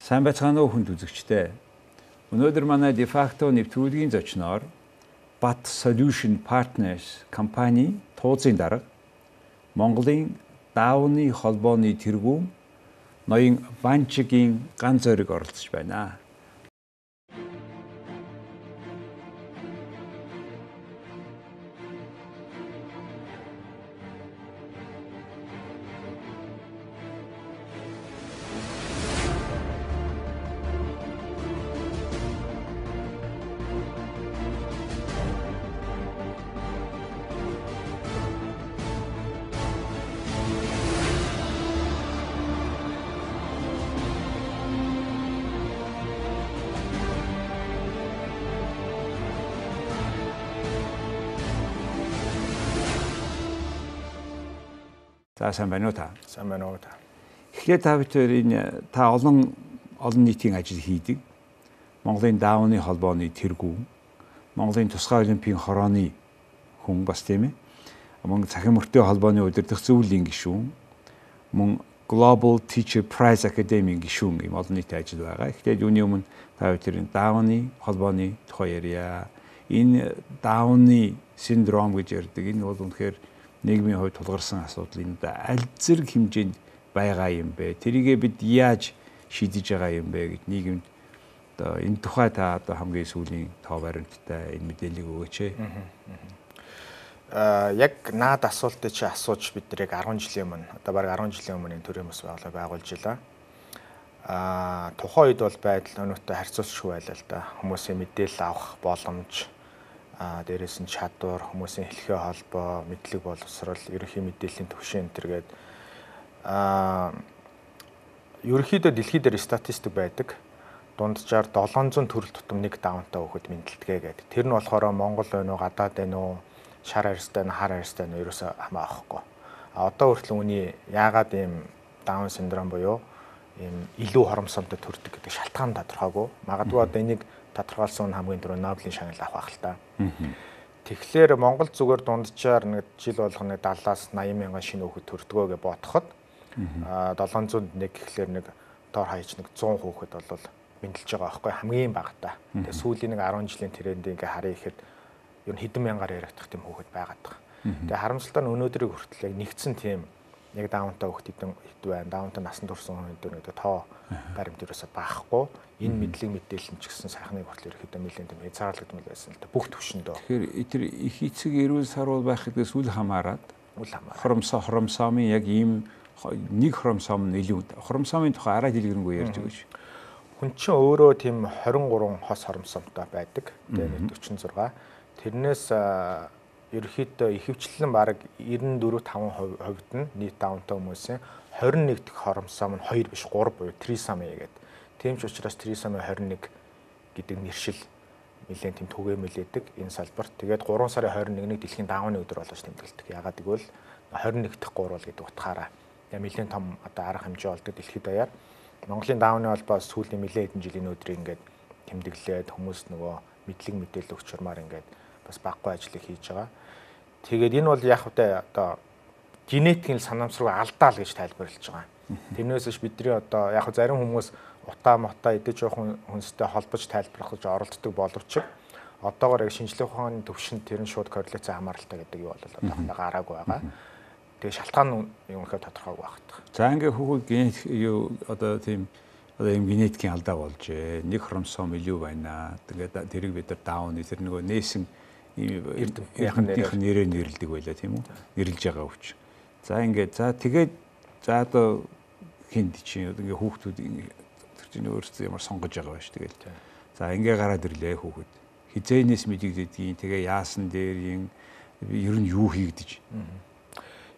Сайн байцгаана уу хүнд үзэгчдээ. Өнөөдөр манай de facto нэвтрүүлгийн зочноор Bat Solution Partners компани тууцын дарга Монголын даавны холбооны тэргүүн ноён Ванчигийн ганц зориг оролцож байна. За сайн байна уу та? Сайн байна уу та. Эхлээд та бүхэн та олон нийтийн ажил хийдэг. Монголын даавны холбооны тэргүүн, Монголын тусгай олимпийн хорооны хүн бас тийм ээ. Мөн цахим мөртөө холбооны удирдах зөвлөлийн гишүүн, мөн Global Teacher Prize Academy-ийн гишүүн юм олон нийтийн ажил байгаа. Эхлээд юуны өмнө та бүхэн даавны холбооны тухай ярья. Энэ даавны синдром гэж ярьдаг. Энэ бол үнэхээр нийгмийн хувьд тулгарсан асуудал энэ аль зэрэг хэмжээнд байгаа юм бэ? Тэрийгээ бид яаж шийдэж байгаа юм бэ гэж нийгэмд одоо энэ тухай та одоо хамгийн сүүлийн тоо баримттай энэ мэдээллийг өгөөч. Яг наад асуултыг чи асууж бид нэг 10 жилийн өмнө одоо бараг 10 жилийн өмнө энэ төрийн бас байгуулж илаа. Тухайн үед бол байдал өнөөтэй харьцуулшгүй байлаа л да. Хүмүүсийн мэдээлэл авах боломж дээрээс нь чадвар, хүмүүсийн хэлхээ холбоо, мэдлэг боловсрол, ерөнхий мэдээллийн түвшин энтергээд ерөнхийдөө дэлхийд дээр статистик байдаг. Дунджаар 700 төрөл тутам нэг даунтай хүүхэд мэдлэлтгээ гэдэг. Тэр нь болохоор Монгол байна уу, гадаад байна уу, шар арьстай нь, хар арьстай нь ерөөсөө хамаахгүй. Одоо хүртэл үний яагаад ийм даун синдром буюу ийм илүү хоромсомтой төрдөг гэдэг шалтгаан тодорхойгүй. Магадгүй одоо энийг тодорхойлсон хамгийн түрүү Нобелийн шагнал авах л та. Тэгэхээр Монгол зүгээр дунджаар нэг жил болгоно 70-аас 80 мянган шинэ хүүхэд төрдгөө гэж бодоход 701 гэхлээр нэг дор хаяж нэг 100 хүүхэд бол мэдлж байгаа байхгүй хамгийн багтаа. Тэгээ сүүлийн нэг 10 жилийн трендийг ингээ харъя гэхэд ер нь хэдэн мянгаар яригдах тийм хүүхэд байгаад байгаа. Тэгээ харамсалтай нь өнөөдрийг хүртэл яг нэгдсэн тийм яг даунтай хүүхэд хэд байна, даунтай насан турш хүүхэд нэг тоо баримт ерөөсөй баахгүй. Энэ мэдлэг мэдээлэл ч гэсэн сайхныг хүртэл ерөөхдөө нэлээд тийм хязгаарлагдмал байсан л да бүх төвшөндөө. Тэгэхээр тэр их эцэг эрүүл сарвал байх гэдгээс үл хамааран хоромсоомын яг ийм нэг хоромсоом нь илүү хоромсоомын тухай арай дэлгэрэнгүй ярьж байгаа шүү. Хүн чинь өөрөө тийм 23 хос хоромсоомтой байдаг. Тэгээ 46. Тэрнээс ерөөхдөө ихэвчлэн бараг 94-5% нь нийт даунтай хүмүүсийн 21 дэх хоромсоом нь 2 биш 3 буюу трисоми гэдэг. Тийм ч учраас трисоми 21 гэдэг нэршил нэлээд тийм түгээмэл байдаг энэ салбарт. Тэгээд 3 сарын 21-ний дэлхийн даавны өдөр болгож тэмдэглэдэг. Ягаад гэвэл 21 дэх гурвал гэдэг утгаараа нэлээд том одоо арга хэмжээ болдог дэлхийд даяар. Монголын даавны холбоо сүүлийн нэлээд хэдэн жилийн өдрийг ингээд тэмдэглээд хүмүүс нөгөө мэдлэг мэдээлэл өгч чурмаар ингээд бас баггүй ажлыг хийж байгаа. Тэгээд энэ бол яг хөтэ одоо генетикийн санамсруу алдаал гэж тайлбарлаж байгаа. Тэрнээс биш бидний одоо яг зарим хүмүүс утаа мотаа идэж явах хүнстэй холбож тайлбарлах гэж оролддог боловч одоогоор яг шинжлэх ухааны төвшөнд тэр нь шууд корреляци хамааралтай гэдэг юу бол одоохондоо гараагүй байгаа. Тэгээ шалтгаан нь юм ихээр тодорхойгүй багтах. За ингээ хүүхэд генетик юу одоо тийм одоо юм генетикийн алдаа болжээ. Нэг хромосом илүү байна. Тэгээд тэрийг бид нар даун тэр нөгөө нээсэн эрдэмтнийх нэрээр нэрлдэг байлаа тийм үү? Нэрлж байгаа өвч. За ингээд тэгээд одоо хинд чинь ингээ хүүхдүүд тэр чинь өөрсдөө ямар сонгож байгаа байж тэгэл. За ингээ гараад ирлээ хүүхэд. Хизээнээс мэдэгддгийн тэгээ яасан дээр ер нь юу хийгдэж.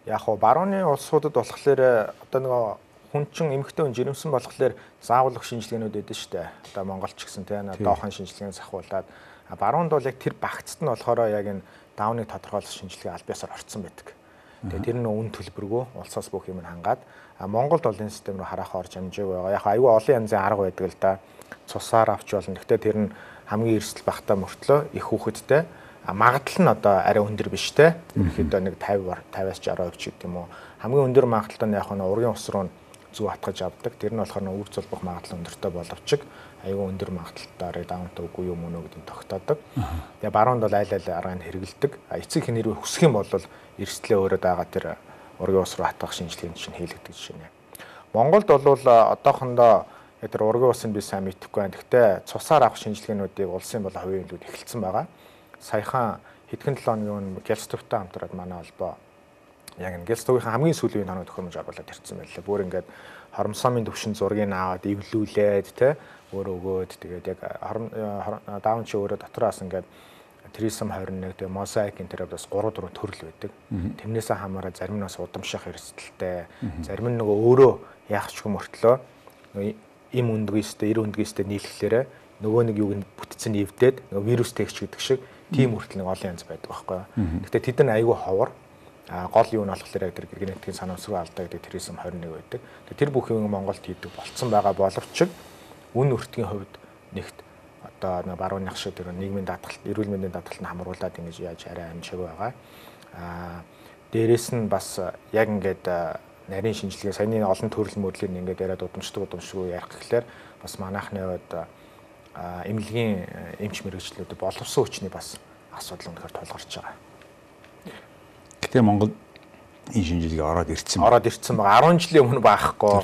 Яг хоо барууны улсуудад болохоор одоо нөгөө хүн чин эмэгтэй хүн жирэмсэн болохоор заавалх шинжилгээнүүд өгдөө шүү дээ. Одоо Монголч гэсэн тийм доохон шинжилгээний сахиулаад баруунд бол яг тэр багцд нь болохоор яг энэ даавны тодорхойлох шинжилгээ аль биесээр орцсон байдаг. Тэгээ тэр нь үн төлбөргүй улсаас бүх юм хангаад Монголд бол энэ систем рүү харах орж амжаагүй байгаа. Яг аюу олон янзын арга байдаг л да. Цусаар авч болно. Гэхдээ тэр нь хамгийн эрсдэл багтаа мөртлөө их хүүхэдтэй магадлал нь одоо арай өндөр биш те. Ерөнхийдөө нэг 50-аас 60% ч гэдэг юм уу. Хамгийн өндөр магадлал нь яг нь ургийн ус руу зүү хатгаж авдаг. Тэр нь болохоор үр зулбах магадлал өндөртэй боловч аюул өндөр магадaltaар даунтаа үгүй юм уу гэдгийг тогтоодог. Тэгээ баруунд бол айл аргыг хэрэгэлдэг. Эцэг хэн хэрвээ хүсэх юм бол эрсдлээ өөрөө дагаад тэр ургийн ус руу хатгах шинжилгээнд чинь хийлэгдэж байна. Монголд бол одоохондоо тэр ургийн усыг би сайн мэдэхгүй байна. Гэхдээ цусаар авах шинжилгээнүүдийг улсын болон хувийн хилүүд эхэлсэн байгаа. Саяхан хэдхэн 7 хоногийн Гэлстөвтэй хамтраад манай холбоо яг энэ Гэлстөвийн хамгийн сүүлийн тоног төхөөрөмж оруулаад ирсэн байлаа. Бүр ингээд хоромсоомын төвшин зургийг аваад эвлүүлээд тэ өөрөө өгөөд тэгээд яг даун чи өөрөө дотроос ингээд трисом 21 тэгээд мозаик энэ бас 3 4 төрөл байдаг. Тэрнээсээ хамаараа зарим нь бас удамших эрсдэлтэй, зарим нь нөгөө өөрөө яах ч юм мөртлөө им өндгийстэй, эр өндгийстэй нийлэхлээрээ нөгөө нэг юуг нь бүтцэн эвдээд нөгөө вирус тэгч гэдэг шиг тийм хүртэл нэг олон янз байдаг байхгүй юу. Гэхдээ тэд нар айгүй ховор. Гол юу нь болохоор яг тэр генетикийн санамсруу алдаа гэдэг трисом 21 байдаг. Тэр бүх юм Монголд хийдэг болцсон байгаа боловч үн өртгийн хувьд нэгт одоо барууны шиг тэр нийгмийн даатгалт, эрүүл мэндийн даатгалтыг хамруулад ингэж яаж арай амжиг байгаа. Дээрээс нь бас яг ингээд нарийн шинжилгээ саяны олон төрөл мөрлийг ингээд яриад удамшгүй ярих гэхлээр бас манайхны хувьд эмнэлгийн эмч мэрэгчлүүд боловсон хүчний бас асуудал өнөхөр тулгарч байгаа. Гэтэ Монгол энэ шинжилгээ ороод ирсэн байгаа. 10 жилийн өмнө баахгүй.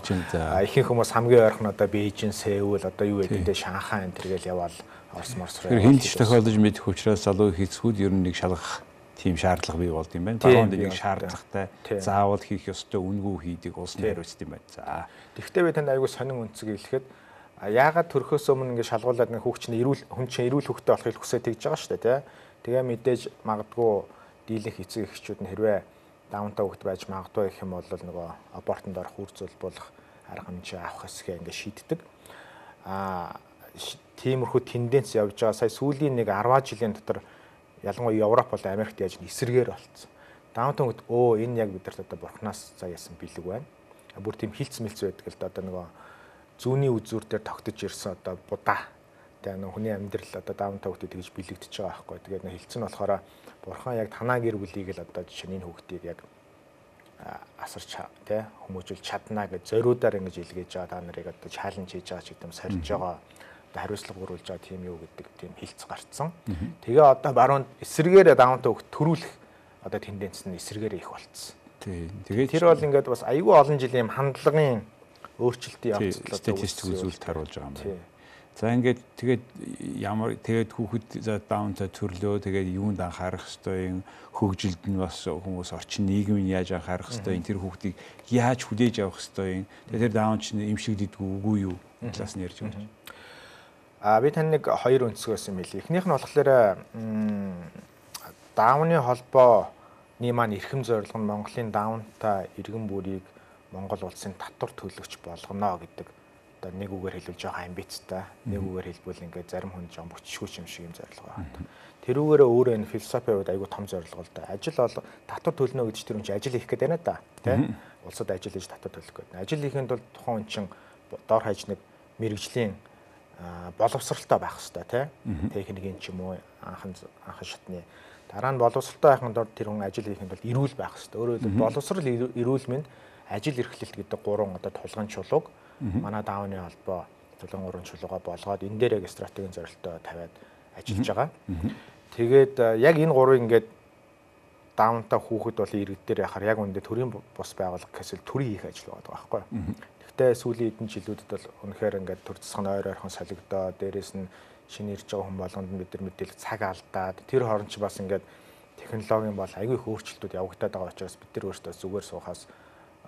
Ихэнх хүмүүс хамгийн ойрхон одоо Бээжин, Сеул одоо юу гэдэг Шанхай энэ төргээл яваал Орос морсроо. Тэр хинт тохиолдож мэдэх учраас залуу хийцгүүд ер нь нэг шалгах тийм шаардлага бий болд юм байна. Баруунд нэг шаардлагатай заавал хийх ёстой үнгүй хийдэг улс нь хариуцсан юм байна. За. Тэгэхдээ би танд аягүй сонин үнцэг хэлэхэд яагаад төрхөөс өмнө ингэ шалгуулад нэг хүүхд чинь хүн чинь эрүүл хүүхдтэй болохыг хүсэж тэгж байгаа шүү дээ, тэгээ мэдээж магадгүй дийлэнх эцэг эхчүүд нь хэрвээ даунтаа хүүхд байж магадгүй гэх юм бол нөгөө абортонд орох үр зөвлөх арга хэмжээ авах хэсгээ ингэ шийддэг. Тиймэрхүү тенденц явж байгаа. Сая сүүлийн нэг 10 жилийн дотор ялангуяа Европ болон Америкт яаж эсэргээр болцсон. Даунтаа хүүхд энэ яг бидэрт одоо бурхнаас заяасан бэлэг байна. Бүр тийм хилцс мэлц байдаг л да одоо нөгөө зүүнний үзүүр дээр тогтож ирсэн одоо будаа. Тэгээ нэг хүний амьдрал одоо даунтаа хүүхдэд тэгж бэлэгдэж байгаа байхгүй. Тэгээд нэг хилцэн болохоор бурхан яг танаа гэр бүлийг л одоо жишээ нь энэ хүүхдийг яг асарч тий хүмүүжүүлж чадна гэж зориудаар ингэж илгээж байгаа та нарыг одоо чаленж хийж байгаа ч гэдэм сорж байгаа. Одоо хариуцлага өгүүлж байгаа тийм юу гэдэг тийм хилцс гарцсан. Тэгээ одоо баруунд эсэргээр даунтаа хүүхд төрүүлэх одоо тенденц нь эсэргээр их болцсон. Тий. Тэгээд тэр бол ингээд бас аюул олон жилийн хандлагын өөрчлөлтийн явцлал статистик үзүүлэлт харуулж байгаа юм байна. За ингээд тэгээд хүүхэд даунтаа төрлөө тэгээд юунд анхаарах ёстой, хөгжилд нь бас хүмүүс орчин нийгмийн яаж анхаарах ёстой, тэр хүүхдийг яаж хүлээж авах ёстой, тэгээд тэр даун чинь эмшигддэггүй үгүй юу талаас нь ярьж байгаа. Би тань нэг хоёр өнцгөөс юм хэлье. Эхнийх нь болохоор даунны холбооны маань эрхэм зорилго нь Монголын даунтаа иргэн бүрийг Монгол улсын татвар төлөгч болгоно гэдэг одоо нэг үгээр хэлбэл жоохон амбицтай, нэг үгээр хэлбэл ингээд зарим хүн жоохон бүчшгүй юм шиг юм зорилго байна. Тэрүүгээрээ өөрөө энэ философийн хувьд айгүй том зорилго л да. Ажил бол татвар төлнө гэж тэр хүн чинь ажил хийх гээд байна да. Тэ? Улсад ажил хийж татвар төлөх гээд. Ажил хийхэд бол тухайн хүн чинь дор хаяж нэг мэрэгжлийн боловсралтай байх хэрэгтэй, тэ? Техникийн ч юм уу анхан шатны. Дараа нь боловсралтай байхын тулд тэр хүн ажил хийхэд бол эрүүл байх хэрэгтэй. Өөрөөр хэлбэл боловсрал, эрүүл мэнд, ажил эрхлэлт гэдэг гурван одоо тулгын чулууг манай даавны холбоо тулгын гурван чулууга болгоод энэ дээр яг стратегийн зорилттой тавиад ажиллаж байгаа. Тэгээд яг энэ гурвыг ингээд даунтаа хүүхэд бол иргэдээр яхаар яг үндэ төрийн бус байгууллага гэхээс төрийн хийх ажил байгаа байхгүй. Гэхдээ сүүлийн хэдэн жилүүдэд бол үнэхээр ингээд төр засгийн ойрхон солигдоо, дээрээс нь шинэ ирж байгаа хүн болгонд бид нар мэдээлэл цаг алдаад тэр хооронд ч бас ингээд технологийн бол аягүй их өөрчлөлтүүд явагдаад байгаа учраас бид нар өөрсдөө зүгээр суухаас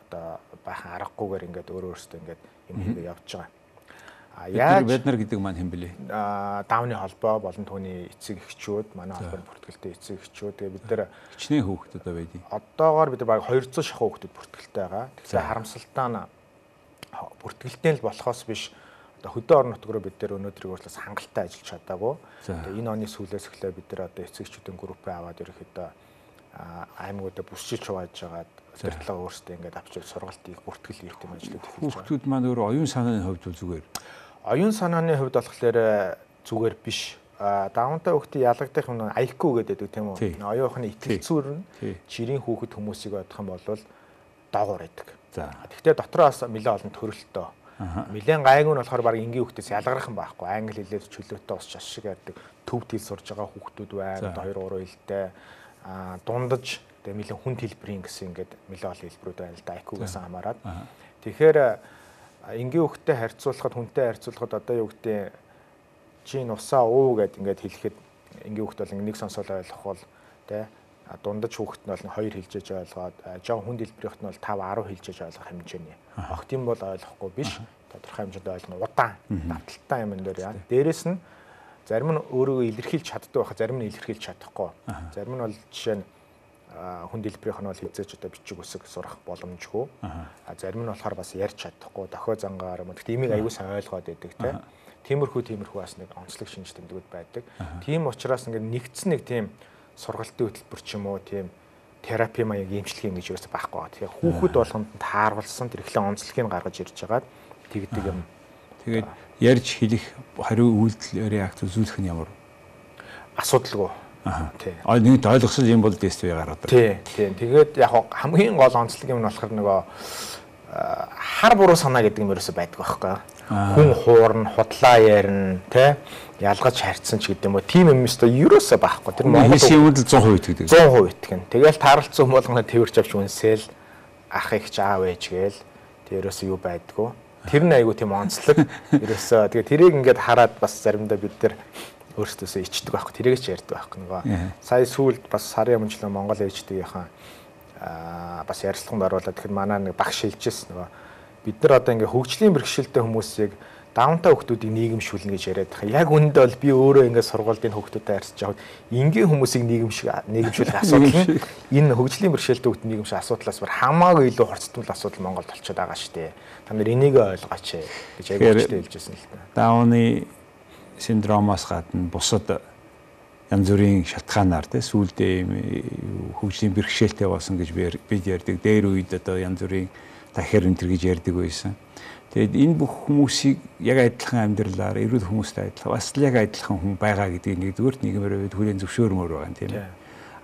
одоо баахан аргагүйгээр ингээд өөрөөсөө ингээд юм хийгээ явж байгаа. Яаж бид нар гэдэг маань хэн блэ? Даавны холбоо болон түүний эцэг эхчүүд, манай холбооны бүртгэлтэй эцэг эхчүүд. Тэгээ бид нар хичнээн хүүхдүүд байдаг. Одоогоор бид нар баг 200 шахуу хүүхдүүд бүртгэлтэй байгаа. Тэгэхээр харамсалтай нь бүртгэлтэй л болохоос биш одоо хөдөө орон нутгаар бид нар өнөөдрийг өөрчлөс хангалттай ажиллаж чадаагүй. Тэгээ энэ оны сүүлээс эхлээ бид нар одоо эцэг эхчүүдийн группээ аваад ерөөхдөө аймагуудад бүсчилж хувааж байгаад тэртлээ өөрсдөө ингээд авчиж сургалтыг бүртгэл хийх юм ажлууд эхэлж байгаа. Хүүхдүүд маань өөрөө оюун санааны хувьд зүгээр. Оюун санааны хувьд болохоор зүгээр биш. Даунтаа хүүхдийн ялгагдах юм IQ гэдэг тийм үү? Оюун ухааны итгэл зүйр нь жирийн хүүхэд хүмүүсийг бодох юм бол доогуур байдаг. Тэгтээ дотроос нэлээд олон төрөлтөө. Нэлээд гайгүй нь болохоор баг энгийн хүүхдээс ялгарах юм байхгүй. Англи хэлээр чөлөөтэй ус шаш шиг ярьдаг. Төв хэл сурж байгаа хүүхдүүд байна. 2-3 хэлтэй. Дундаж тэгээ нэлээд хүнд хэлбэрийн гэсэн ингээд нэлээд олон хэлбэрүүд байна л да. IQ-гаас хамаарат. Тэгэхээр энгийн хүүхдтэй харьцуулахад хүнтэй харьцуулахад одоо юу гэдэг чи нусаа уу гэд ингээд хэлэхэд энгийн хүүхд бол нэг сонсоол ойлгох бол тэ дундаж хүүхэд нь бол 2 хэлжээж ойлгоод жоо хүнд хэлбэрийнх нь бол 5-10 хэлжээж ойлгох хэмжээний. Огт юм бол ойлгохгүй биш. Тодорхой хэмжээнд ойлгоно. Удаан, давталтай юм энэ дээр яа. Дээрэс нь зарим нь өөрийгөө илэрхийлж чаддаг байхад зарим нь илэрхийлж чадахгүй. Зарим нь бол жишээ нь хүнд хэлбэрийнх нь бол хизээч одоо бичиг үсэг сурах боломжгүй. Зарим нь болохоор бас ярьж чадахгүй, дохио зангаар юм. Гэхдээ имийг аягүй сайн ойлгоод байдаг те. Тиймэрхүү бас нэг онцлог шинж тэмдгүүд байдаг. Тийм учраас ингээд нэгдсэн нэг тийм сургалтын хөтөлбөр ч юм уу тийм терапи маяг эмчилгээ ингэж юусэн байхгүй байгаа. Тэгэхээр хүүхэд болгонд тааруулсан тэр ихлэ онцлогийг гаргаж ирж байгаа тэгдэг юм. Тэгээд ярьж хэлэх хариу үйлдэл реакц үзүүлэх нь ямар асуудалгүй. Тий. Нэг ойлгосон юм бол тествэ гараад байна. Тий. Тэгээд яг хамгийн гол онцлог юм нь болохоор нөгөө хар буруу санаа гэдэг юм ерөөсөй байдаг байхгүй. Хүн хуурна, худлаа ярина, тэ ялгаж харьцсан ч гэдэг юм уу. Тим юм өстой ерөөсөй байхгүй. Тэр Монгол хийсийн үйлдэл 100% итгэдэг. 100% итгэн. Тэгэл тааралцсан болгоно тэрвэрч авч үнсэл ах их ч аав ээж гээл тэрөөсөө юу байдгүй. Тэр нь айгу тийм онцлог ерөөсөө. Тэгээ тэрийг ингээд хараад бас заримдаа бид нар өөрсдөөсөө ичдэг байхгүй. Тэрийг ч ярьдаг байхгүй нөгөө. Сая сүүлд бас сарын өмнө Монгол ээждгийнхаа бас ярилцлаганд оруулаад тэгэхээр манай нэг багш хэлжсэн нөгөө бид нар одоо ингээ хөгжлийн бэрхшээлтэй хүмүүсийг даунтаа хүмүүсийг нийгэмшүүлнэ гэж яриад байгаа. Яг үүндээ бол би өөрөө ингээ сургуулийн хүмүүстэй харьцаж аваад энгийн хүмүүсийг нийгэмшүүлэх асуудал нь энэ хөгжлийн бэрхшээлтэй хүмүүс нийгэмшүүлэх асуудлаас бүр хамаагүй илүү хорцтмол асуудал Монголд болчиход байгаа шүү дээ. Та нар энийг ойлгооч гэж аягуулчтай хэлжсэн л та. Дауны синдромоос гадна бусад янз бүрийн шалтгаанаар тэ сүүлдээ хөгжлийн бэрхшээлтэй болсон гэж бид ярьдаг. Дээр үед одоо янз бүрийн дахир энэ гэж ярьдаг байсан. Тэгэд энэ бүх хүмүүсийг яг адилхан амьдралаар эрүүл хүмүүстэй адилхан бас л яг адилхан хүн байгаа гэдгийг нэгдүгээрт нийгэмээр хүлээн зөвшөөрмөр байгаа юм тийм ээ.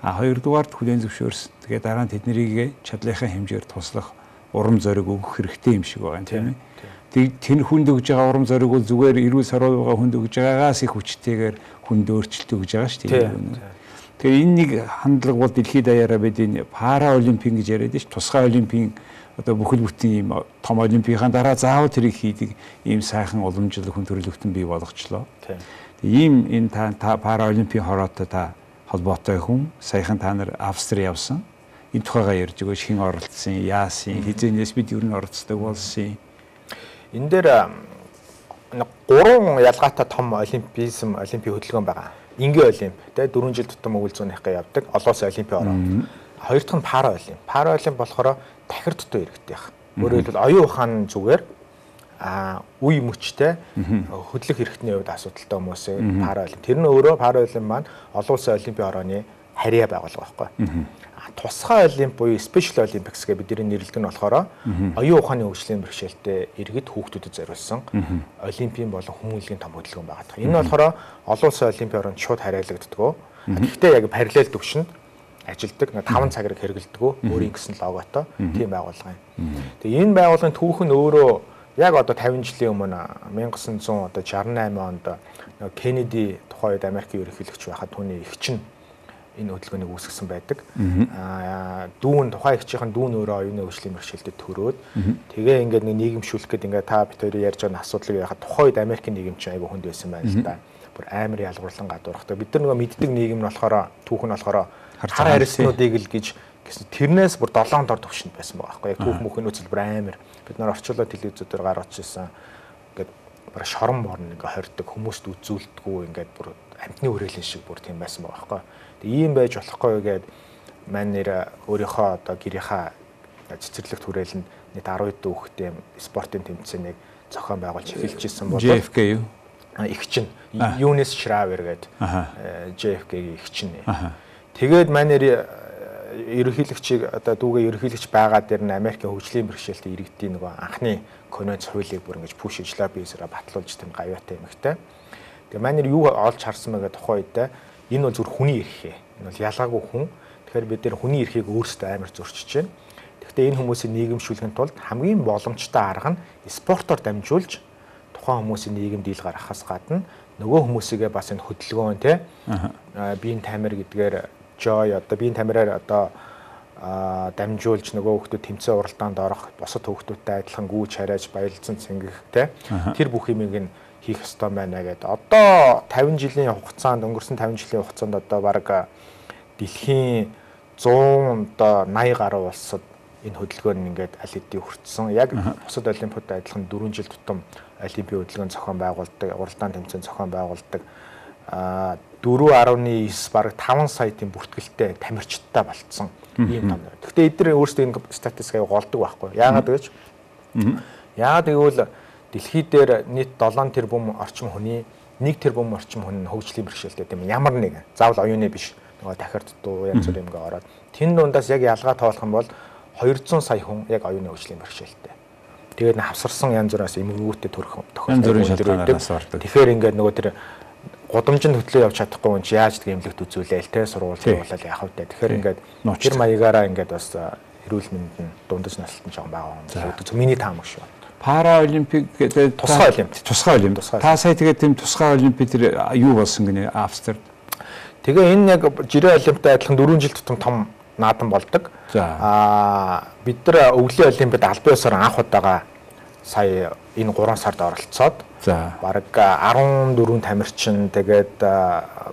Хоёрдугаарт хүлээн зөвшөөрсөн. Тэгээд дараа нь тэднийг чадлынхаа хэмжээр туслах урам зориг өгөх хэрэгтэй юм шиг байгаа юм тийм ээ. Тэр хүнд өгж байгаа урам зориг бол зүгээр эрүүл саруу байгаа хүнд өгж байгаагаас их хүчтэйгээр хүнд өөрчлөлт өгж байгаа шүү дээ. Тэгэхээр энэ нэг хандлага бол дэлхийд даяараа бид энэ пара олимпийн гэж яриад ш тусгай олимпийн одоо бүхэл бүтэн ийм том олимпийн дараа заавал тэрийг хийдэг ийм сайхан уламжлал хүн төрөлхтөн бий болгочлоо. Ийм энэ та пара олимпийн хороотой та холбоотой хүн саяхан та нар Австри явсан. Энэ тухайгаа ярьж өгөөч хэн оролцсон, яасан, хизээнээс бид юу н оролцдог болсон. Энэ дээр 3 ялгаатай том олимпийн хөдөлгөөн байгаа. Ингийн олимп тэ 4 жил тутам үйлзүүнийхээ явдаг. Олон улсын олимпийн ороо. Хоёр дахь нь пара олимп. Пара олимп болохоор дахир дутуу иргэдэг. Өөрөөр хэлбэл оюун ухаан зүгээр үе мөчтэй хөдлөх хэрэгтний хувьд асуудалтай хүмүүсээ пара олимп. Тэр нь өөрөө пара олимп маань олон улсын олимпийн орооны харьяа байгуулга байхгүй. Тусгай олимп буюу special olympics гэж бидний нэрлэдэг нь болохоор оюун ухааны хөгжлийн бэрхшээлтэй иргэд хүүхдүүдэд зориулсан олимпийн болон хүмүүнлэгийн том хөдөлгөөн байгаа. Энэ нь болохоор олон улсын олимпийн ороонд шууд харьяалагддаг. Гэхдээ яг параллел төвшөнд ажилдаг 5 цагаар хэрэгэлдэг өөрийн гэсэн логотой тийм байгууллага юм. Тэгээ энэ байгууллагын түүх нь өөрөө яг одоо 50 жилийн өмнө 1968 онд Кеннеди тухайн үед Америкийн ерөнхийлөгч байхад түүний эгч нь энэ хөдөлгөөнийг үүсгэсэн байдаг. Дүүн тухайн эгчийн дүүн өөрөө оюуны хөгжлийн бэрхшээлтэд төрөөд тэгээ ингээд нэг нийгэмшүүлэх гэдэг ингээд та бид хоёрын ярьж байгаа асуудлыг яхад тухайн үед Америкийн нийгэм чинь айгүй хүнд байсан байна л да. Бүр амар ялгуурлан гадуурхдаг. Бид нар нөгөө мэддэг нийгэм нь болохоор түүх нь болохоор хар харьцнуудыг л гэж тэрнээс бүр 7 дор төвшөнд байсан байгаа байхгүй. Яг түүх мөхний үзэл бүр амар. Бид нар орчлоод телевизээр гаргаж ирсэн. Ингээд бүр шорон борн ингээд хордог хүмүүст үзүүлдэггүй ингээд бүр амтны хүрээлэн шиг бүр тийм байсан байгаа байхгүй. Ийм байж болохгүй гээд маань нэр өөрийнхөө одоо гэрийнхаа цэцэрлэгт хүрээлэнд нийт 10 хэдэн хүүхэдтэй спортын тэмцээнийг зохион байгуулж эхэлжсэн болов. JFK юу? Эгч нь Юнис Шравер гээд JFK-ийн эгч нь. Тэгээд маань нэр ерөнхийлөгчийг одоо дүүгээ ерөнхийлөгч байгаа дээр нь Америкийн хөгжлийн бэрхшээлтэй иргэдийн нөгөө анхны конвенц хуулийг бүр ингэж пүшиж лоббисээрээ батлуулж тийм гавьяатай эмэгтэй. Тэгээд маань нэр юу олж харсан мэ гэдэг тухайн үедээ энэ бол зөвхөн хүний эрхээ. Энэ бол ялгаагүй хүн. Тэгэхээр бид нэр хүний эрхийг өөрсдөө амар зөрчиж байна. Гэхдээ энэ хүмүүсийг нийгэмшүүлэхин тулд хамгийн боломжтой арга нь спортоор дамжуулж тухайн хүмүүсийн нийгэмд ил гаргахаас гадна нөгөө хүмүүсийгээ бас энэ хөдөлгөөн тий биеийн тамир гэдгээр joy одоо биеийн тамираар одоо дамжуулж нөгөө хүмүүс тэмцээн уралдаанд орох босод хүмүүстэй адилхан гүйж харайж баярлцсан цэнгэх тий тэр бүх юмыг нь хийх ёстой байна гэдэг. Одоо 50 жилийн хугацаанд өнгөрсөн 50 жилийн хугацаанд одоо баг дэлхийн 100 одоо 80 гаруй улсад энэ хөдөлгөөн нь ингээд аль хэдийн хүртсэн. Яг бусад олимпиадад адилхан 4 жил тутам олимпийн хөдөлгөөн зохион байгуулдаг, уралдаан тэмцээн зохион байгуулдаг. 4.9 бараг 5 сая тийм бүртгэлтэй тамирчидтай болцсон ийм том. Гэхдээ эдгээр өөрсдөө энэ статистикийг голдог байхгүй. Яагаад гэж? Яагаад гэвэл дэлхий дээр нийт 7 тэрбум орчим хүний 1 тэрбум орчим хүн хөгжлийн бэрхшээлтэй тийм ямар нэг заавал оюуны биш нөгөө дахирд дуу янз бүр юмгаа ороод тэн дундаас яг ялгаа тоолох юм бол 200 сая хүн яг оюуны хөгжлийн бэрхшээлтэй. Тэгээд хавсарсан янз бүраас эмгэгүүттэй төрөх тохиолдол. Тэгэхээр ингээд нөгөө тэр гудамжинд хөтлөө явж чадахгүй хүн чи яаж тийм эмнэлэгт үзүүлээл те сургуулиулаад яах вэ? Тэгэхээр ингээд тэр маягаараа ингээд бас эрүүл мэндэд дундаж насалтан жоохон байгаа юм. Миний таамаг шүү. Пара олимпик гэдэг тусгай олимп. Та сая тэгээд тийм тусгай олимпик тэр юу болсон гинэ Австрид. Тэгээ энэ яг жирийн олимпиад адилхан 4 жил тутам том наадан болдог. Бид нар өвлийн олимпиад албан ёсоор анх удаага сая энэ 3 сард оролцоод бараг 14 тамирчин тэгээд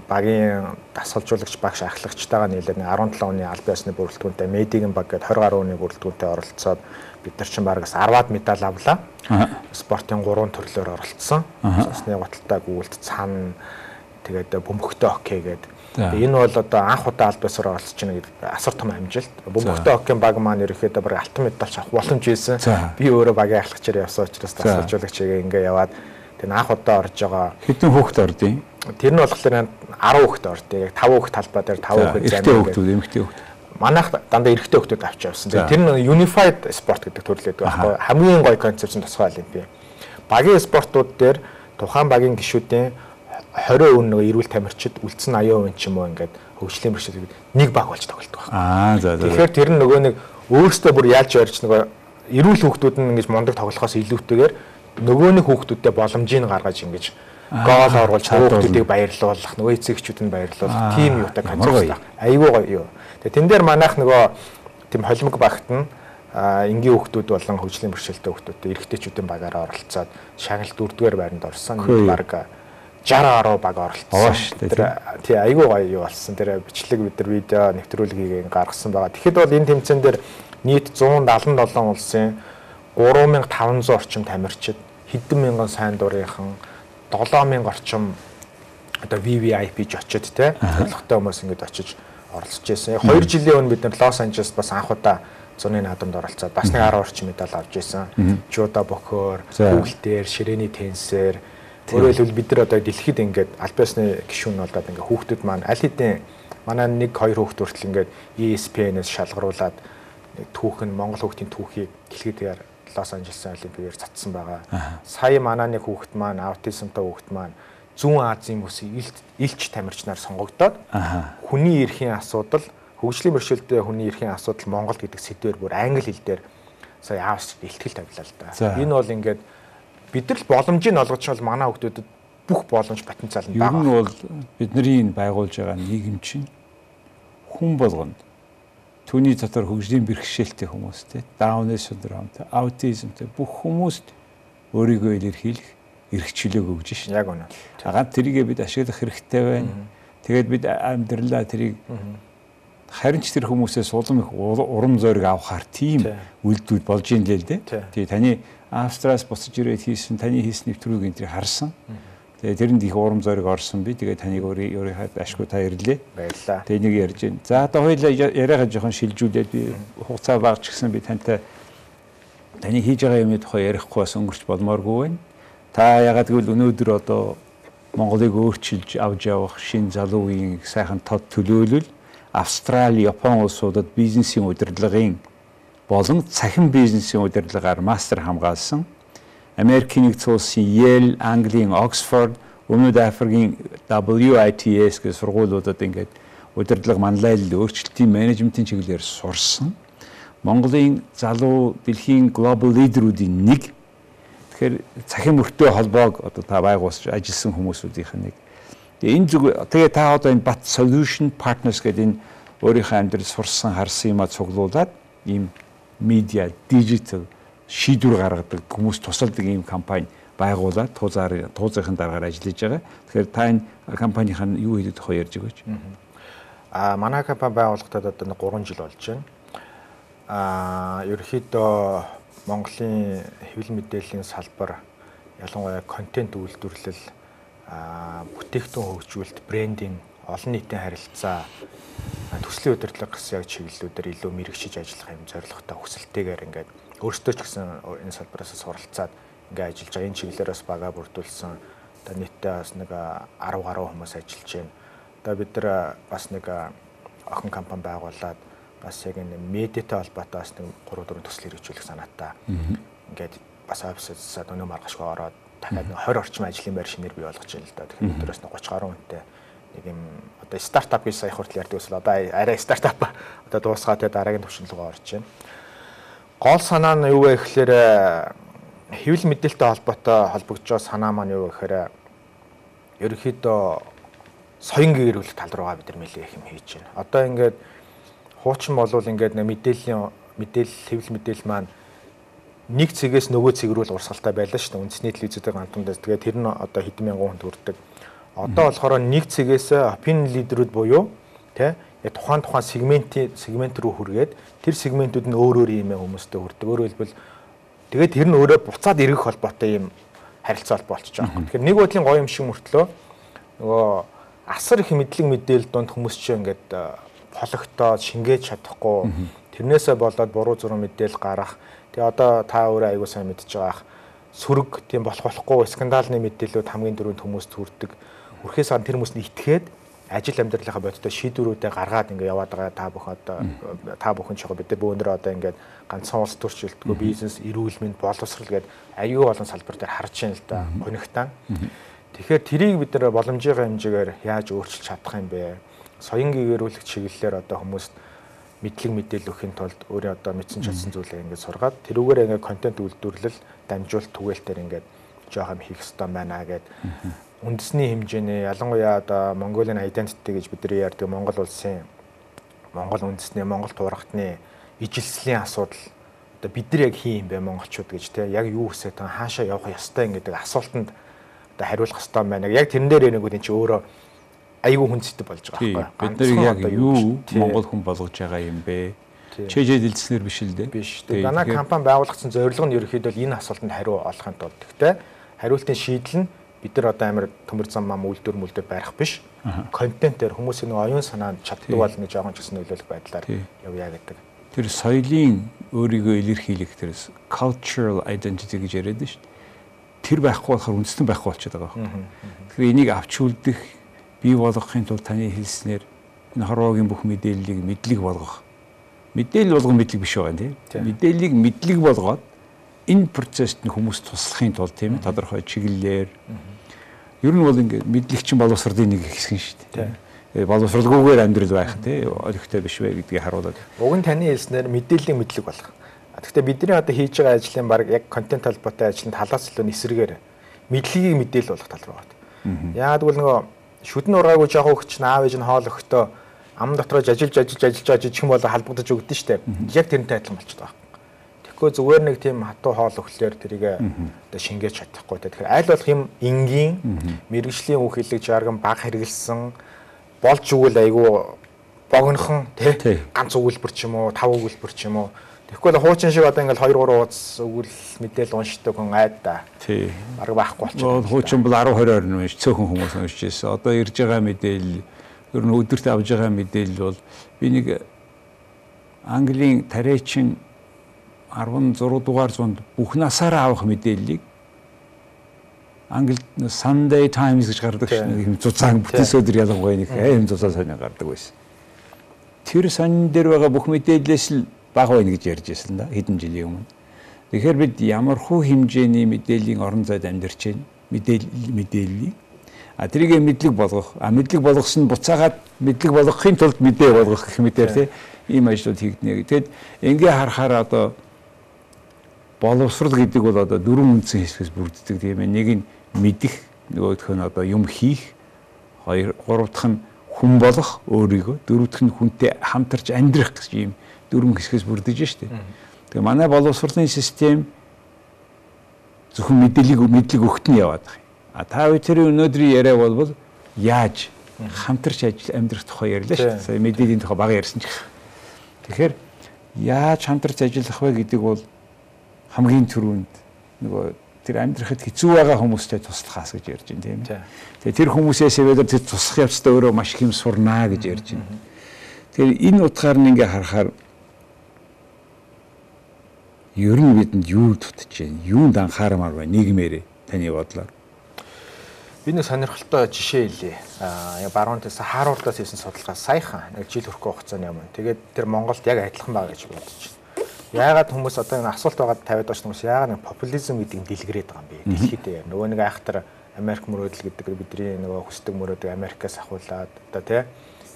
багийн дасгалжуулагч багш ахлагчтайгаа нийлээд 17 оны албан ёсны бүрэлдэхүүнтэй медигийн баг гээд 20 гаруй оны бүрэлдэхүүнтэй оролцоод бид нар чинь бараг 10-аад медаль авлаа. Спортын 3 төрлөөр оролцсон. Цусны гуталтай гүйлт цан тэгээд бөмбөгтэй хоккей гэдэг. Энэ бол одоо анх удаа албан ёсоор оролцож байна гэдэг асар том амжилт. Бөмбөгтэй хоккейн баг маань ерөөхдөө бараг алтан медаль авах боломж байсан. Би өөрөө багийн ахлагчаар явсан учраас дасгалжуулагчгээ ингээ яваад тэгээд анх удаа орж байгаа. Хэдэн хүүхэд ордیں۔ Тэр нь болохоор 10 хүүхэд ордیں۔ Яг 5 хүүхэд талбай дээр 5 хүүхэд замын хүүхдүүд, эмэгтэй хүүхэд. Манайх дандаа эрэгтэй хүүхдүүд авч явсан. Тэр нь unified sport гэдэг төрлөөд байхгүй. Хамгийн гоё концепц нь тусгай олимпиад. Багийн спортууд дээр тухайн багийн гишүүдийн 20% нөгөө эрүүл тамирчид үлдсэн 80% ч юм уу ингээд хөгжлийн бэрхшээл нэг баг болж тоглолдог байна. Тэгэхээр тэр нь нөгөө нэг өөрөөсөө бүр яаж ярьж нөгөө эрүүл хүүхдүүд нь ингэж мундаг тоглохоос илүүтэйгээр нөгөө нэг хүүхдүүдэд боломжийг гаргаж ингэж гол оруулж хүүхдүүдийг баярлуулах, нөгөө эцэгчүүд нь баярлуулах тийм юутай концепт. Айгүй гоё юу. Тэгээ тэн дээр манайх нөгөө тийм холимог багт нь энгийн хүүхдүүд болон хөгжлийн бэрхшээлтэй хүүхдүүдтэй эрэгтэйчүүдийн багаараа оролцоод шагналт 4-р байранд орсон. Нэг баг 60 гаруй баг оролцсон шүү дээ. Тий айгүй гоё юу болсон. Тэр бичлэг бид нар видео нэвтрүүлгийг гаргасан байгаа. Тэгэхэд бол энэ тэмцээн дээр нийт 177 улсын 3500 орчим тамирчид, хэдэн мянган сайн дурынхан, 7000 орчим одоо VVIP ч очиод те зорилготой хүмүүс ингэж очиж оролцож байсан. 2 жилийн өмнө бид нар Лос Анжелест бас анх удаа зуны наадамд оролцоод бас нэг 10 орчим медаль авч ирсэн. Жуда боксоор, хүүхэлтээр, ширээний теннисээр өөрөөр хэлбэл бид нар одоо дэлхийд ингээд албан ёсны гишүүн болоод ингээд хүүхдүүд маань аль хэдийн манай 1-2 хүүхд хүртэл ингээд ESPN-ээс шалгаруулад түүх нь Монгол хүүхдийн түүхийг дэлхийдээр Лос Анжелесын олимпиадаар цацсан байгаа. Сая манай нэг хүүхд маань аутизмтай хүүхд маань Зүүн Азийн бүсийн элч тамирчнаар сонгогдоод хүний эрхийн асуудал, хөгжлийн бэрхшээлтэй хүний эрхийн асуудал Монголд гэдэг сэдвээр бүр англи хэл дээр сая аавч илтгэл тавилаа л да. Энэ бол ингээд бид нар л боломжийг олгож бол манай хүүхдүүдэд бүх боломж потенциал нь байгаа. Ер нь бол бидний энэ байгуулж байгаа нийгэм чинь хүн болгонд түүний дотор хөгжлийн бэрхшээлтэй хүмүүстэй, Down syndrome-тэй, аутизмтэй бүх хүмүүст өөрийгөө илэрхийлэх эрх чөлөөг өгж шин. Яг үнэ. Хагаад тэрийгээ бид ашиглах хэрэгтэй байна. Тэгээд бид амьдралаа тэрийг харин ч тэр хүмүүсээс улам их урам зориг авахар тийм үйлдэл болж ийн л дээ. Тэгээ таны Австраас буцаж ирээд хийсэн таны хийсэн нэвтрүүлгийг энэ харсан. Тэгээ тэрэнд их урам зориг орсон би. Тэгээ таныг өөрийнхөө ашгүй та ирлээ. Баярлалаа. Тэгээ нэг ярьж байна. За одоо хоёулаа яриагаа жоохон шилжүүлээд би хугацаа багч гисэн би тантай таны хийж байгаа юмны тухай ярихгүй бас өнгөрч болмооргүй байна. Та ягаад гэвэл өнөөдөр одоо Монголыг өөрчилж авч явах шинэ залуу үеийн сайхан тод төлөөлөл Австрали, Япон улсуудад бизнесийн удирдлагын болон цахим бизнесийн удирдлагаар мастер хамгаалсан. Америкийн нэгдсэн улсын Yale, Английн Oxford, Өмнөд Африкийн WITS гэх сургуулиудад ингээд удирдлага манлайлал өөрчлөлтийн менежментийн чиглэлээр сурсан. Монголын залуу дэлхийн глобал лидерүүдийн нэг. Тэгэхээр цахим мөртөө холбоог одоо та байгуулж ажилласан хүмүүсүүдийнх нь нэг. Энэ зүг тэгээ та одоо энэ Bat Solution Partners гэдэг энэ өөрийнхөө амьдрал сурсан харсан юмаа цуглуулад ийм медиа, дижитал шийдвэр гаргадаг хүмүүс тусалдаг ийм компани байгуулад туузын дараагаар ажиллаж байгаа. Тэгэхээр та энэ компанийхаа юу хийдэг тухай ярьж өгөөч. Манай компани байгуулагдаад одоо 3 жил болж байна. Ерөнхийдөө Монголын хэвлэл мэдээллийн салбар ялангуяа контент үйлдвэрлэл, бүтээгдэхүүн хөгжүүлэлт, брендинг, олон нийтийн харилцаа, төслийн удирдлага гэсэн яг чиглэлүүдээр илүү мэрэгчиж ажиллах юм зорилготой хүсэлтэйгээр ингээд өөрсдөө ч гэсэн энэ салбараас суралцаад ингээд ажиллаж байгаа. Энэ чиглэлээрээс бага бүрдүүлсэн одоо нийтдээ бас нэг 10 гаруй хүмүүс ажиллаж байна. Одоо бид нар бас нэг охин компани байгуулад бас яг энэ медиатай холбоотой бас нэг 3-4 төсөл хэрэгжүүлэх санаатай. Ингээд бас офисээс өнөө маргашгүй ороод дахиад 20 орчим ажлын байр шинээр бий болгож байна л да. Тэгэхээр өдөрөөс 30 гаруй хүнтэй нэг юм одоо стартап гэж сая хүртэл ярьдаг ус л одоо арай стартап одоо дуусгаад дараагийн төвшин рүү орж байна. Гол санаа нь юу вэ гэхээр хэвлэл мэдээлэлтэй холбоотой холбогдож байгаа санаа маань юу вэ гэхээр ерөнхийдөө соён гэрүүлэх тал руугаа бид нар нэлээд их юм хийж байна. Одоо ингээд хуучин болвол ингээд мэдээлэл хэвлэл мэдээлэл маань нэг цэгээс нөгөө цэг рүү урсгалтай байлаа шүү дээ. Үндэсний телевизүүдийн гамтандаас. Тэгээд тэр нь одоо хэдэн мянган хүнд хүрдэг. Одоо болохоор нэг цэгээс opinion лидерүүд буюу тий тухайн сегмент рүү хүргээд тэр сегментүүд нь өөр юм хүмүүстэй хүрдэг. Өөрөөр хэлбэл тэгээд тэр нь өөрөө буцаад эргэх холбоотой юм харилцаа холбоо болчихж байгаа юм. Тэгэхээр нэг бодлын гоё юм шиг мөртлөө нөгөө асар их мэдлэг мэдээлэл донд хүмүүс чинь ингээд хологтоод шингээж чадахгүй тэрнээсээ болоод буруу зураг мэдээлэл гарах. Тэгээ одоо та өөрөө аягүй сайн мэдж байгаа сүрэг тийм болохгүй скандалны мэдээлэлүүд хамгийн дөрөнд хүмүүст хүрдэг. Үрхээс ан тэр хүмүүст нь итгээд ажил амьдралынхаа бодтой шийдвэрүүдээ гаргаад ингээ яваад байгаа та бүхэн ч яг бид бөөнөр одоо ингээ ганцхан улс төрчлөлтгүй бизнес эрүүл мэнд боловсрал гээд аюул олон салбар дээр харж байна л да гонигтаа. Тэгэхээр тэрийг бид нар боломжийн хэмжээгээр яаж өөрчилж чадах юм бэ? Соён гэрүүлэх чиглэлээр одоо хүмүүст мэдлэг мэдээлэл өгөхийн тулд өөрөө одоо мэдсэн чадсан зүйлээ ингээд сургаад тэрүүгээр ингээд контент үйлдвэрлэл дамжуулалт түгээлтээр ингээд жоохон хийх хэрэгтэй байна гэд үндэсний хэмжээний ялангуяа одоо Mongolian identity гэж бидний ярьдаг Монгол улсын Монгол үндэсний Монгол туурхтны ижилслийн асуудал одоо бид нар яг хин юм бэ монголчууд гэж те яг юу хүсэж байгаа хаашаа явах ёстой гэдэг асуултанд одоо хариулах хэрэгтэй байна. Яг тэрэн дээр нэг үн чи өөрөө айгүй хүнцэтэй болж байгаа байхгүй. Бид нар яг юу Монгол хүн болгож байгаа юм бэ? Чэжэд дэлгэснээр биш л дээ. Биш. Манай компани байгуулагдсан зорилго нь ерөөхдөө энэ асуултанд хариу олохын тулд гэхдээ хариултын шийдэл нь бид нар одоо амар төмөр зам мам үйлдвэр барих биш. Контентээр хүмүүсийн оюун санаанд чаддаг бол нэг жоохон ч гэсэн нөлөөлөх байдлаар явъя гэдэг. Тэр соёлын өөрийгөө илэрхийлэх тэр cultural identity гэж яриад шүү дээ. Тэр байхгүй болохоор үндэстэн байхгүй болчиход байгаа байхгүй. Тэгэхээр энийг авч үлдэх бий болгохын тулд таны хэлснээр энэ хорвоогийн бүх мэдээллийг мэдлэг болгох. Мэдээлэл болгох мэдлэг биш байгаа тийм. Мэдээллийг мэдлэг болгоод энэ процессд нь хүмүүс туслахын тулд тийм тодорхой чиглэлээр ер нь бол ингээд мэдлэгчин боловсролын нэг хэсэг шүү дээ. Боловсролгүйгээр амьдрал байх тийм олигтой биш вэ гэдгийг харуулдаг. Уг нь таны хэлснээр мэдээллийн мэдлэг болгох. Гэхдээ бидний одоо хийж байгаа ажлын баг яг контент холбоотой ажлын талаас илүү эсрэгээр мэдлэгийг мэдээлэл болгох тал руу байна. Яагад бол нөгөө шүдэн ургаагүй жоохон өгч наав ээж нь хоол өгтөө ам дотроо ажиллаж байгаа жижигхэн болоо халбагдаж өгдөн штэ. Яг тэрнтэй адилхан болчиход байгаа. Тэгэхгүй зүгээр нэг тийм хатуу хоол өгөхлөөр тэрийг одоо шингээж чадахгүй. Тэгэхээр аль болох юм энгийн мэрэгжлийн үг хэллэг жарган баг хэрэгэлсэн болж өгвөл айгүй богинохон тий ганц өгүүлбэр ч юм уу 5 өгүүлбэр ч юм уу. Тэгэхгүй л хуучин шиг одоо ингээл 2-3 ууц өгвөл мэдээлэл уншдаг хүн айд да. Тий. Бараг байхгүй болчихсон. Хуучин бол 10-20 орн биш цөөхөн хүмүүс уншиж байсан. Одоо ирж байгаа мэдээлэл ер нь өдөрт авж байгаа мэдээлэл бол би нэг Английн тариачин 16 дугаар зуунд бүх насаараа авах мэдээллийг Англид Sunday Times гэж гардаг шин цуцаан бүтээс өдөр ялангуяа нэг аим цуцаан сонин гардаг байсан. Тэр сонин дээр байгаа бүх мэдээллээс л бага байна гэж ярьж байсан да хэдэн жилийн өмнө. Тэгэхээр бид ямархуу хэмжээний мэдээллийн орон зайд амьдарч байна. Мэдээллийг тэрийг мэдлэг болгох. Мэдлэг болгосон буцаагаад мэдлэг болгохын тулд мэдээ болгох гэх мэтээр тий ийм ажлууд хийгднэ. Тэгэд ингээ харахаар одоо боловсрал гэдэг бол одоо 4 үндсэн хэсгээс бүрддэг тийм ээ. Нэг нь мэдэх, нөгөөх нь одоо юм хийх, гурав дахь нь хүн болох өөрийгөө, дөрөв дахь нь хүнтэй хамтарч амьдрах гэж ийм 4 хэсгээс бүрдэж штэ. Тэгээ манай боловсролын систем зөвхөн мэдлэг өгт нь яваад байгаа. А та бүхэн өнөөдрийн яриа бол яаж хамтарч амьдрах тухай ярьлаа шүү дээ. Сая мэдээллийн тухай бага ярьсан ч гэсэн. Тэгэхээр яаж хамтарч ажиллах вэ гэдэг бол хамгийн түрүүнд нөгөө тэр амьдрахад хэцүү байгаа хүмүүстэй туслахаас гэж ярьж байна тийм. Тэгээ тэр хүмүүсээс өдөр тэр туслах явцдаа өөрөө маш их юм сурнаа гэж ярьж байна. Тэгэхээр энэ утгаар нь ингээ харахаар ер нь бидэнд юу дутж байна? Юунд анхаарамаар байна нийгмээрээ таны бодлоор? Би нэг сонирхолтой жишээ хэлье. Баруунаас Харвардаас хийсэн судалгаа саяхан нэг жил хүрэх хугацааны өмнө. Тэгээд тэр Монголд яг адилхан байгаа гэж бодож байна. Яагаад хүмүүс одоо энэ асуулт байгаад тавиад байгаа хүмүүс яагаад нэг популизм гэдэг юм дэлгэрээд байгаа юм бэ? Дэлхийд нөгөө нэг айхтар Америк мөрөөдөл гэдэг бидний нөгөө хүсдэг мөрөөдөг Америкаас ахуулаад одоо тий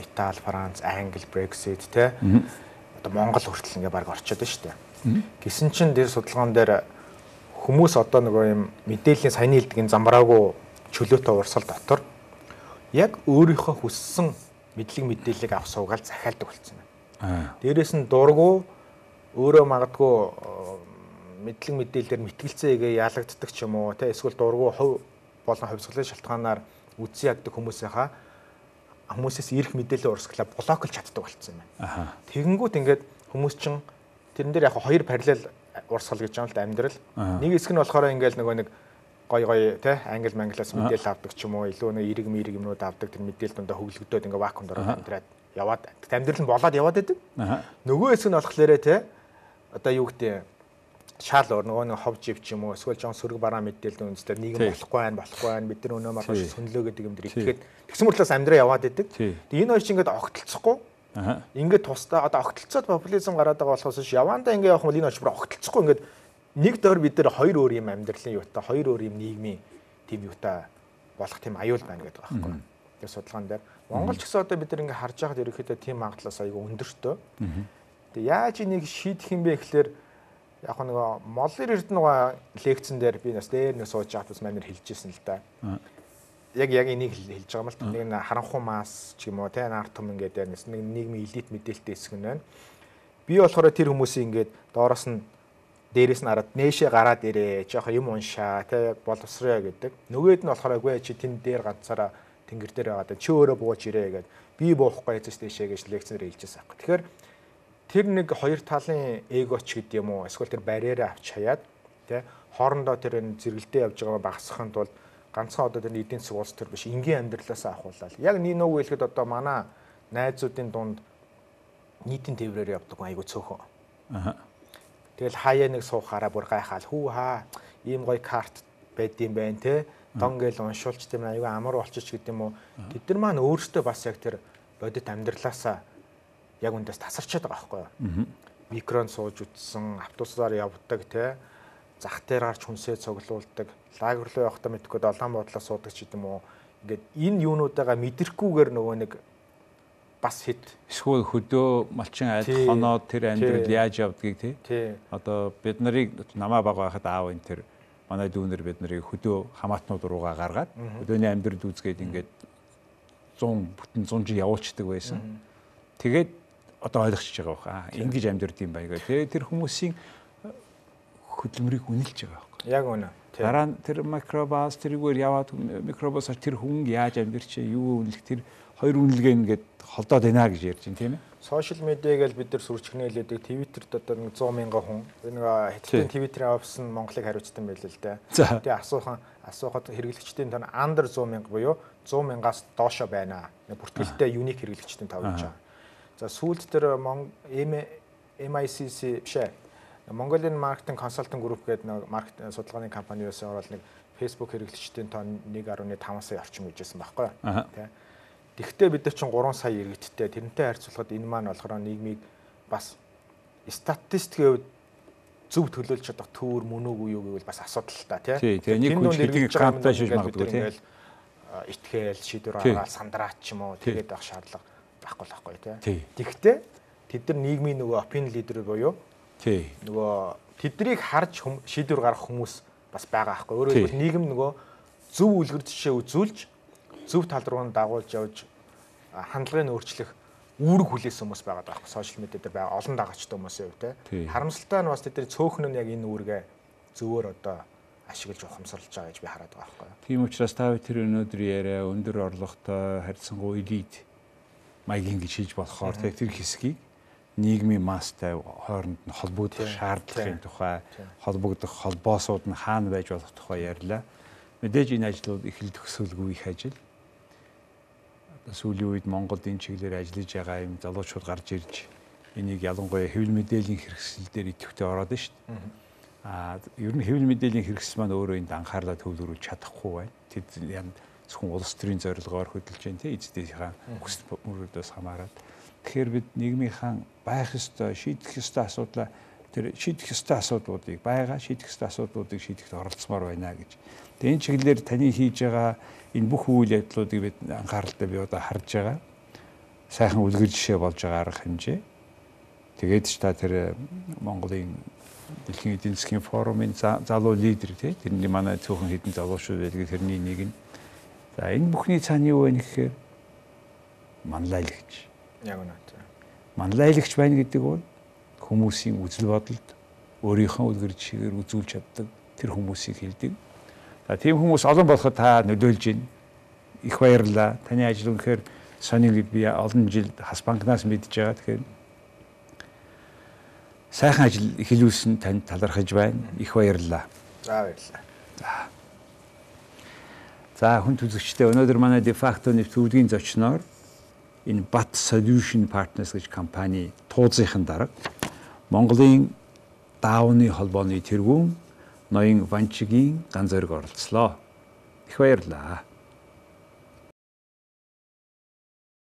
Итали, Франц, Англи, Brexit тий одоо Монгол хүртэл ингээ баг орчод байна шүү дээ. Гэсэн чинь тэр судалгаан дээр хүмүүс одоо нөгөө юм мэдээллийн саяны хэлдгийн замбраагүй чөлөөтэй урсгал дотор яг өөрийнхөө хүссэн мэдээллийг авах суугаал захиалдаг болсон байна. Дээрээс нь дургу өөрөө магадгүй мэдээлэлээр мэтгэлцээгээ ялагддаг ч юм уу те эсвэл дургу хувь болон хувьсгалын шалтгаанаар үдсий яддаг хүмүүсээс ирэх мэдээлэл урсгалаа блоклж чаддаг болсон байна. Тэгэнгүүт ингээд хүмүүс чинь тэрэн дээр яг хоёр параллел урсгал гэж байгаа л да амьдрал. Нэг хэсэг нь болохоор ингээд нөгөө нэг гой те англи манглаас мэдээлэл авдаг ч юм уу илүү нэг эрэг юмнууд авдаг тэр мэдээлэл дундаа хөглөгдөөд ингээ вакуумд ороод амьдраад яваад амьдрал нь болоод яваад байдаг. Нөгөө хэсэг нь болохоор те одоо юу гэдэг шаал нөгөө нэг хов жив ч юм уу эсвэл жоон сөрөг бараа мэдээлэл үндэслэр нийгэм болохгүй байна бид нар өнөө маргааш сүнлөө гэдэг юм дэр итгэхэд тэгсэн мэтлээс амьдраа яваад байдаг. Тэгээ энэ хоёр чинь ингээ огтлцохгүй ингээ тусдаа одоо огтлцоод популизм гараад байгаа болохоос явандаа ингээ явах юм бол энэ хоёр огтлцохгүй ингээ нэг дор бид нар хоёр өөр юм амьдралын юутай хоёр өөр юм нийгмийн тийм юутай болох тийм аюул байна гэдэг байгаа байхгүй. Тэр судалгаан дээр Монгол ч гэсэн одоо бид нар ингээ харж байхад ерөөхдөө тийм магадлалаас аягүй өндөртөө. Тэгээ яаж энийг шийдэх юм бэ гэхлээр яг нөгөө Моллер Эрдэнэгийн лекцэн дээр би бас дээр нэг сууж авах бас манер хэлжсэн л да. Яг энийг хэлж байгаа юм л нэг нь харанхуй мас ч юм уу те нартум ингээд нэг нийгмийн элит мэдээлэлтэй хэсэг нь байна. Би болохоор тэр хүмүүсийн ингээд доороос нь дээрээс нь хараад нээшээ гараад ирээ жоох юм уншаа те боловсроо гэдэг. Нөгөөд нь болохоор үгүй чи тэн дээр ганцаараа тэнгэр дээр байгаад чи өөрөө бууж ирээ гэдэг. Би буухгүй эцэс дэшээ гэж лекцээр хэлжсэн аахгүй. Тэгэхээр тэр нэг хоёр талын эгоч гэдэг юм уу эсвэл тэр барьераа авч хаяад те хоорондоо тэр энэ зэрэгэлдээ явж байгаа багасгахын тулд ганцхан одоо тэр эдийн засаг улс төр биш энгийн амьдралаасаа ахуулаад яг нэг хэлэхэд одоо манай найзуудын дунд нийтийн тээврээр явдаг айгу цөөхөн. Тэгэл хаяа нэг суухаараа бүр гайхаал хүү хаа ийм гоё карт байдсан байх те дон гэл уншуулч тийм айгу амар болчих гэдэг юм уу тэд нар маань өөрсдөө бас яг тэр бодит амьдралаасаа яг үндээс тасарчаад байгаа байхгүй юу. Микрон сууж үтсэн, автобусаар явдаг те зах дээр гарч хүнсээ цуглуулдаг, лагер руу явахдаа мэдгүй долоон бодлоо суудаг ч гэдэм үү. Ингээд энэ юунуудаа мэдрэхгүйгээр нөгөө нэг бас хит эсвэл хөдөө малчин айд хоноод тэр амьдрал яаж явдгийг тий. Одоо бид нарыг намаа бага байхад аав энэ тэр манай дүүнэр бид нарыг хөдөө хамаатнууд руугаа гаргаад хөдөөний амьдрал үзгээд ингээд 100 жил явуулцдаг байсан. Тэгээд одоо ойлгочихж байгаа байхгүй. Ингэж амьдрд юм байна гэх. Тэр хүмүүсийн хөдөлмөрийг үнэлж байгаа байхгүй. Яг үнэ. Дараа нь тэр микробас тэрүүгээр яваад микробасаар тэр хүн яаж амьдрч юу үнэлэх тэр хоёр үнэлгээ ингээд холдоод байна гэж ярьж байна тийм ээ. Сошиал медиагээл бид нар сүрчгнээлээдэг Твиттерт одоо 100 мянган хүн нэг хэдхэн Твиттерийн офис нь Монголыг хариуцсан байл л дээ. Тэгээ асуухад хэрэглэгчдийн тань under 100 мянга буюу 100 мянгаас доошо байна. Бүртгэлтэй юник хэрэглэгчдийн тав гэж байгаа. За сүүлд тэр MICC бишээ. Mongolian Marketing Consulting Group гэдэг нэг маркетинг судалгааны компаниос ороод нэг Facebook хэрэглэгчдийн тоо 1.5 сая орчим гэжсэн байхгүй юу? Тэ. Тэгвэл бид нар чинь 3 сая иргэдтэй тэрнтэй харьцуулахад энэ маань болохоор нийгмийг бас статистикийн зөв төлөөлж чадах төвөр мөн үгүй юу гэвэл бас асуудал л та тий. Тэгээ нэг хүн хэлийг грамтай шиж магадгүй тий. Итгээл шийдвэр гаргаад сандраач ч юм уу тэгээд авах шаардлага байхгүй тий. Тэгвэл тэд нар нийгмийн нөгөө opinion leader буюу тий. нөгөө тэднийг харж шийдвэр гаргах хүмүүс бас байгаа байхгүй. Өөрөөр хэлбэл нийгэм нөгөө зөв үлгэр жишээ үзүүлж зөв тал руу дагуулж явж хандлагыг өөрчлөх үүрэг хүлээсэн хүмүүс байгаа байхгүй. Сошиал медиа дээр байгаа олон дагагчтай хүмүүсийн хувьд те. Харамсалтай нь бас тэдний цөөхөн нь яг энэ үүргээ зөвөр одоо ашиглаж ухамсарлаж байгаа гэж би хараад байгаа байхгүй. Тийм учраас та тэр өнөөдөр яриа өндөр орлоготой харьцангуй элит маягийн гэж хийж болохоор тэр хэсгийг нийгмийн мастай хооронд нь холбогдох шаардлагын тухай холбогдох холбоосууд нь хаана байж болох тухай ярьлаа. Мэдээж энэ ажлууд их л төгсөлгүй их ажил. Сүүлийн үед Монголд энэ чиглэлээр ажиллаж байгаа юм залуучууд гарч ирж энийг ялангуяа хэвлэл мэдээллийн хэрэгсэл дээр идэвхтэй ороод байна шүү дээ. Ер нь хэвлэл мэдээллийн хэрэгсэл маань өөрөө энд анхаарлаа төвлөрүүлж чадахгүй байна. Тэд янд зөвхөн улс төрийн зорилгоор хөдөлж байна те эцдийнхээ хүсэл мөрөөдөөс хамаарат. Тэгэхээр бид нийгмийнхаа байх ёстой, шийдэх ёстой асуудлаа тэр шийдэх ёстой асуудлуудыг шийдэх ёстой асуудлуудыг шийдэхэд оролцмоор байна гэж. Тэгээ энэ чиглэлээр таны хийж байгаа энэ бүх үйл явдлуудыг бид анхааралтай би одоо харж байгаа. Сайхан үлгэр жишээ болж байгаа арга хэмжээ. Тэгээд ч та тэр Монголын Дэлхийн эдийн засгийн форумын залуу лидер тий тэрний манай цөөхөн хэдэн залуучууд байдаг тэрний нэг нь. За энэ бүхний цаана юу вэ гэхээр манлайлагч. Яг үнэ. Манлайлагч байна гэдэг бол хүмүүсийн үзэл бодолд өөрийнхөө үлгэр жишээгээр үзүүлж чаддаг тэр хүмүүсийг хэлдэг. За тийм хүмүүс олон болоход та нөлөөлж байна. Их баярлалаа. Таны ажил үнэхээр сонир би олон жил хас банкнаас мэдж байгаа. Тэгэхээр сайхан ажил эхлүүлсэн танд талархаж байна. Их баярлалаа. За баярлалаа. За хүн төлөвчтэй өнөөдөр манай Defacto нэвтрүүлгийн зочноор энэ BAT Solution Partners гэж компани тууцынхын дарга Монголын даавны холбооны тэргүүн ноён Ванчигийн ганц зэрэг оролцлоо. Их баярлалаа.